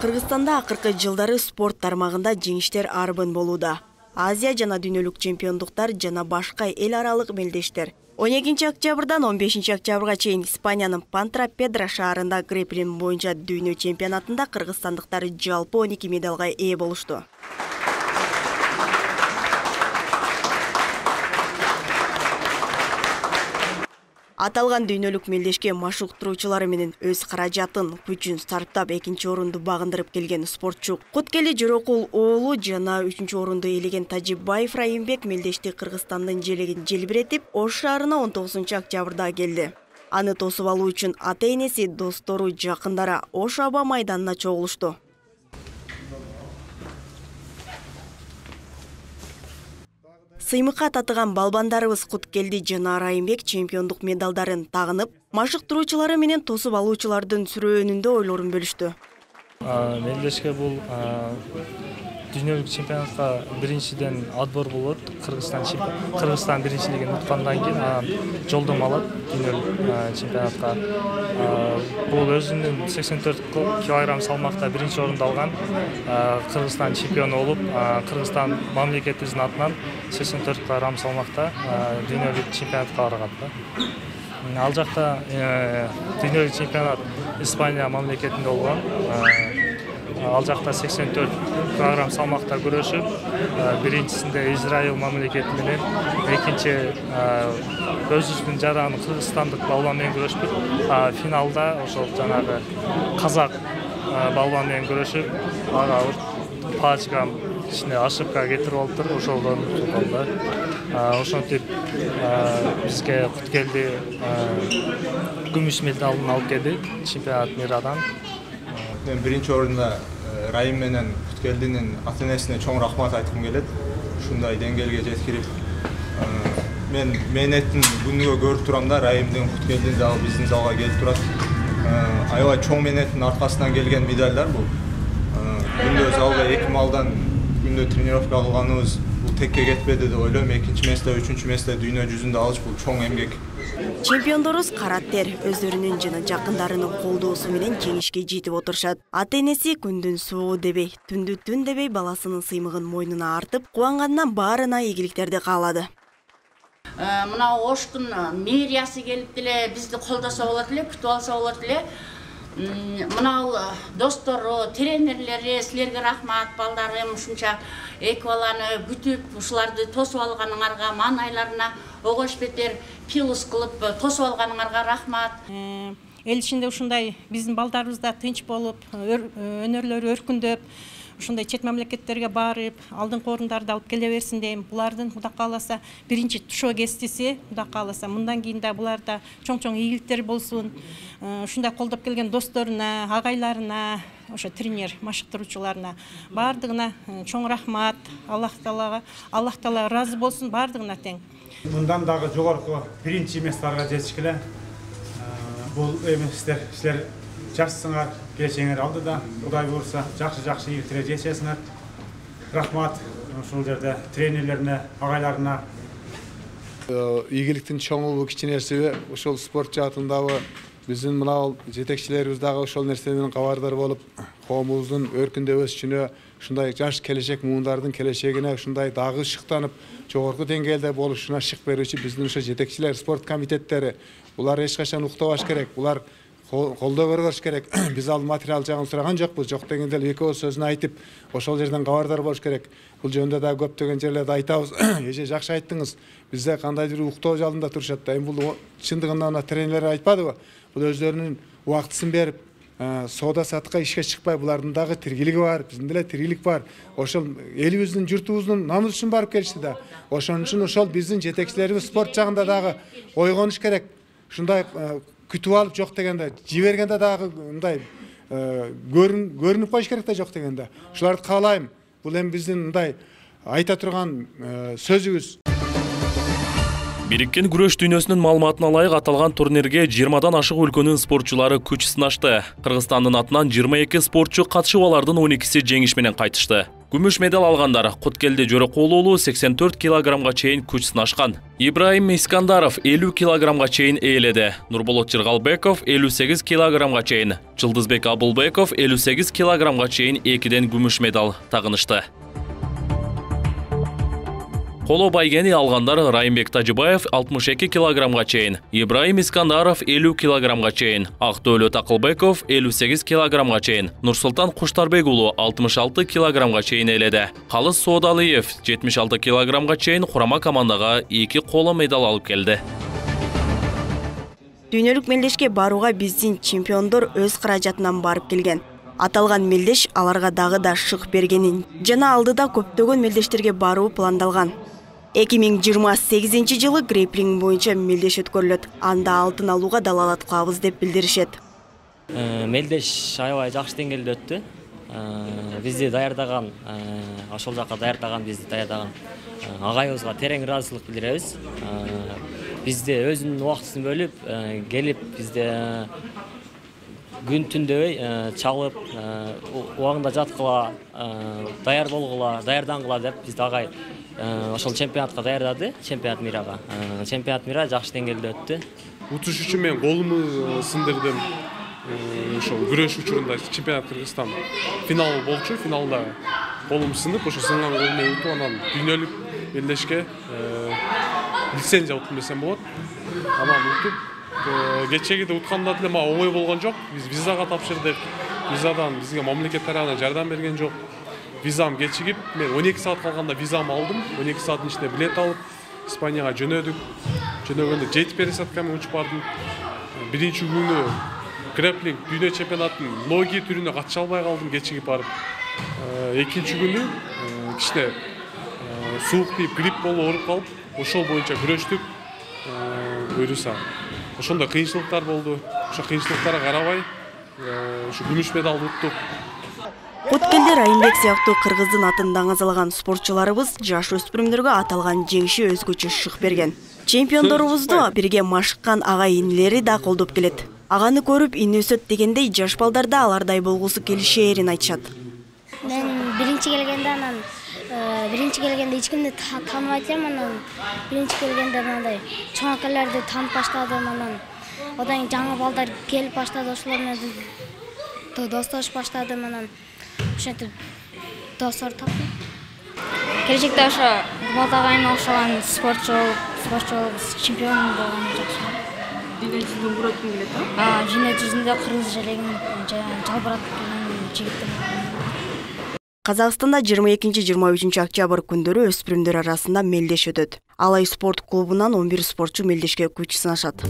Кыргызстанда акыркы жылдары спорт тармагында жеңиштер арбын болууда. Азия жана дүйнөлүк чемпиондуктар жана башка эл аралык мелдештер 12 октябрдан 15 октябрга чейин Испаниянын Пантрапедра шаарында грэпплинг боюнча дүйнө чемпионатында кыргызстандыктар жалпы 12 медалга ээ болушту. Аталган дүйнөлүк мелдешке машыктыруучулары менен өз каражатын, күчүн сарптап экинчи орунду багындырып келген спортчу Куткели Жорокул уулу жана 3-орунду ээлеген Тажибаев Райымбек мелдешти Кыргызстандын желегин желбиретип, Ош шаарына 19 октябрда келди. Аны тосуп алуу үчүн ата-энеси, достору, жакындары Ош аба майданына чогулушту. Сыймыкка татыган балбандарыбыз Куткелди жана Райымбек чемпиондук медалдарын тагынып, машыктыруучулары менен тосуп алуучулардын сүрөөнүндө ойлорун бөлүштү. Мелдешке бул дүйнөлүк чемпионатка биринчиден отбор болот. Кыргызстан биринчилигин уткандан кийин жолдомо алат дүйнөлүк чемпионатка. Бул өзүнүн 84 килограмм салмакта биринчи орунду алган. Кыргызстан чемпиону болуп, Кыргызстан мамлекетибиздин атынан 84 килограмм салмакта дүйнөлүк чемпионатка барган. Ал жакта дүйнөлүк чемпионат Испания мамлекетинде болгон. Ал жакта 84 килограмм салмакта күрөшүп, биринчисинде Израиль мамлекети менен, экинчи өзүбүздүн жаран кыргызстандык балбан менен күрөшүп, финалда ошол жанагы казак балбан менен күрөшүп, ага пачкам ичине ошибка кетирип алыптыр, ошолдон алды. Ошентип бизге Куткелди күмүш медалын алып келди чемпионат мирадан. Мен биринчи орунда Райым менен Куткелдинин ата-энесине чоң рахмат айткым келет. Ушундай деңгээлге жеткирип, мен мээнеттин күнүгө көрүп турам да, Райымдын, Куткелдин дагы биздин залга келип турат. Аябай чоң мээнеттин аркасынан келген медалдар бул. Күндө залда 2 малдан күндө тренировка кылганыбыз бул текке кетпеди деп ойлойм. Экинчи месте, үчүнчү месте дүйнө жүзүндө алыш бул чоң эмгек. Чемпиондорубуз караттер өздөрүнүн жана жакындарынын колдоосу менен жеңишке жетип отурушат. Ата-энеси күндүн суугу дебей, түндү түн дебей баласынын сыймыгын мойнуна артып, кубангандан баарына ийгиликтерди каалады. Мына Оштун мэриясы келип деле бизди колдосо болот эле, күтүп алса болот эле. Мына достору, тренерлери, силерге рахмат, балдарым, ушунча эки баланы күтүп, ушуларды тосуп алганыңарга, маанайларына огош бетер пилус кылып тосуп алганыңарга рахмат. Эл ичинде ушундай биздин балдарыбыз да тынч болуп, өнөрлөрү өркүндөп, ушундай чет мамлекеттерге барып, алдыңкы орундарды алып келе берсин дейм. Булардын Кудай кааласа биринчи тушоо кестиси, Кудай кааласа мындан кийин да буларда чоң-чоң ийгиликтер болсун. Ушундай колдоп келген досторуна, агайларына, ошо тренер, машыктыруучуларына баардыгына чоң рахмат. Аллах Таала ыраазы болсун баардыгына тең. Мындан дагы жогорку биринчи месторго жетишкиле. Бул силер жашсыңар, келечегиңер алдыда. Кудай буйрса, жакшы ийгиликтерге жетесиңер. Рахмат ушул жерде тренерлерине, агайларына. Ийгиликтин чоңу кичинеси ошол спорт жаатындагы биздин мына жетекчилерибиз дагы ошол нерсе менен кабардар болуп, коомубуздун өркүндөп өсүшүнө, ушундай жаш келечек муундардын келечегине ушундай дагы шыктанып, жогорку деңгээлде болушуна шык берүүчү биздин ошо жетекчилер, спорт комитеттери, булар эч качан уктабаш керек, булар колдоо көргөш керек. Биз ал материал жагын сураган жокпуз. Жок дегенде эле экөөбүз сөзүн айтып, ошол жерден кабардар болуш керек. Бул жөнүндө да көптөгөн жерлерде айтабыз. Эже жакшы айттыңыз. Бизде кандайдыр уктоо залында турушат да. Эми бул чындыгында тренерлер айтпадыбы? Бул өздөрүнүн убактысын берип, соода сатыкка ишке чыкпай, булардын дагы тиргилиги бар, биздин деле тиргилик бар. Ошол элибиздин, журтубуздун намысы үчүн барып келишти да. Ошон үчүн ошол биздин жетекчилерибиз спорт жагында дагы ойгонуш керек. Ушундай күтүп алып жок дегенде, жибергенде дагы мындай көрүнүп коюш керек да жок дегенде. Ушуларды каалайм. Бул эми биздин мындай айта турган сөзүбүз. Бириккен күрөш дүйнөсүнүн маалыматына ылайык аталган турнирге 20дан ашык өлкөнүн спортчулары күч сынашты. Кыргызстандын атынан 22 спортчу катышып, алардын 12си жеңиш менен кайтышты. Күмүш медаль алгандар Куткелди Жорокул уулу 84 килограммга чейин күч сынашкан. Ибраим Искандаров 50 килограммга чейин ээледи. Нурболот Жыргалбеков 58 килограммга чейин, Жылдызбек Абулбеков 58 килограммга чейин экиден күмүш медаль тагынышты. Коло байгени алгандар Райымбек Тажыбаев 62 килограммга чейин, Ибраим Искандаров 50 килограммга чейин, Актөөлөт Акылбеков 58 килограммга чейин, Нурсултан Куштарбек уулу 66 килограммга чейин ээледи. Калыс Соодалиев 76 килограммга чейин курама командага 2 коло медаль алып келди. Дүйнөлүк мелдешке барууга биздин чемпиондор өз каражатынан барып келген. Аталган мелдеш аларга дагы да шык бергенин жана алдыда көптөгөн мелдештерге баруу пландалган. 2028 жылы грейплинг боюнча мелдеш өткөрүлөт. Анда алтын алууга далалат кылабыз деп билдиришет. Мелдеш аябай жакшы деңгээлде өттү. Бизди даярдаган, ошол жака бизди даярдаган агайыбызга терең ыраазычылык билдиребиз. Бизде өзүнүн убактысын бөлүп, келип бизде күн түндөбөй чалып, убагында жаткыла, даяр болгула, даярдангыла деп бизди агай ошол чемпионатка даярдады, чемпионат мирага. Чемпионат мира жакшы деңгээлде өттү. Утуш үчүн мен колумду сындырдым. Ошол күрөш учурунда чемпионат Кыргызстан финалы болчу, финалда колум сынып, ошо сынган колумду утуп, анан дүйнөлүк мелдешке лицензия уттум десем болот. Анан утуп, кечеги утканда деле мага оңой болгон жок. Биз визага тапшырдык. Визадан бизге мамлекет тарабынан жардам берген жок. Визам кечигип, мен 12 саат калганда визам алдым. 12 сааттын ичинде билет алып, Испанияга жөнөдүк. Жөнөгөндө жети пересадкамен учуп бардым. Биринчи күнү грэпплинг дүйнө чемпионатынын ноги түрүнө катыша албай калдым, кечигип барып. Экинчи күнү кичине суук тийип, грипп болуп ооруп калып, ошол боюнча күрөштүк. Буюрса, ошондо кыйынчылыктар болду. Ошо кыйынчылыктарга карабай, ушу күмүш медалды уттук. Куткелди Райымбек сыяктуу кыргыздын атын даңазалаган спортчуларыбыз жаш өспүрүмдөргө аталган жеңиши өзгөчө шык берген. Чемпиондорубузду бирге машыккан агай инилери да колдоп келет. Аганы көрүп ин өсөт дегендей жаш балдар да алардай болгусу келишээрин айтышат. Мен биринчи келгенде эч кимди тааныбайт элем, анан биринчи келгенде мындай чоң акаларды таанып баштадым, анан одан кийин жаңы балдар келип баштады, ошолор менен достошуп баштадым, анан ошентип достор таптым. Келечекте ошо балдагайыма окшогон спортчу болуп, чемпион болгон жакшы. Дүйнө жүзүндө бураткым келет, Дүйнө жүзүндө кыргыз желегин жалбыратып келген жигиттер. Казакстанда 22-23 октябрь күндөрү өспүрүмдөр арасында мелдеш өтөт. Алай спорт клубунан 11 спортчу мелдешке күч сынашат.